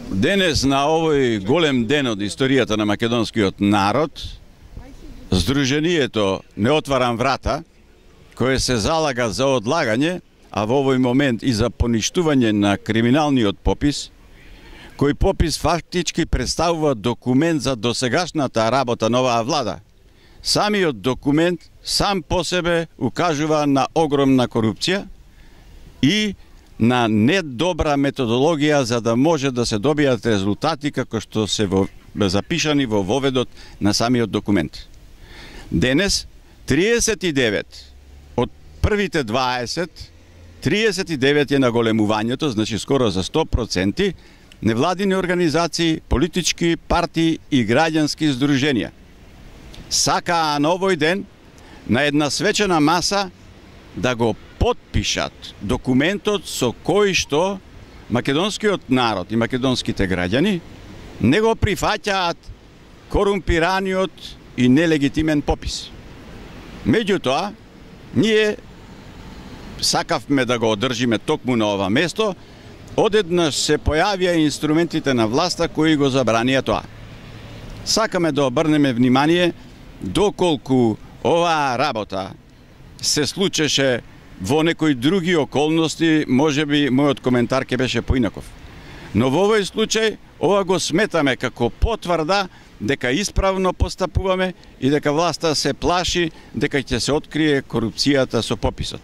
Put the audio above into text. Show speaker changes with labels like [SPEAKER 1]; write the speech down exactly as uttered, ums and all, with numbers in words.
[SPEAKER 1] Денес на овој голем ден од историјата на македонскиот народ, Сдруженијето Не отварам врата, кое се залага за одлагање, а во овој момент и за поништување на криминалниот попис, кој попис фактички представува документ за досегашната работа на оваа влада. Самиот документ сам по себе укажува на огромна корупција и на недобра методологија за да може да се добијат резултати како што се во, запишани во воведот на самиот документ. Денес, триесет и девет од првите дваесет, триесет и девет е наголемувањето, значи скоро за сто проценти, невладини организации, политички партии и граѓански здруженија сакаа на овој ден на една свечена маса да го потпишат документот со кој што македонскиот народ и македонските граѓани не го прифаќаат корумпираниот и нелегитимен попис. Меѓутоа, ние сакавме да го одржиме токму на ова место, одеднаш се појавија инструментите на власта кои го забранија тоа. Сакаме да обрнеме внимание доколку оваа работа се случеше во некои други околности, можеби мојот коментар ќе беше поинаков. Но во овој случај, ова го сметаме како потврда дека исправно постапуваме и дека власта се плаши дека ќе се открие корупцијата со пописот.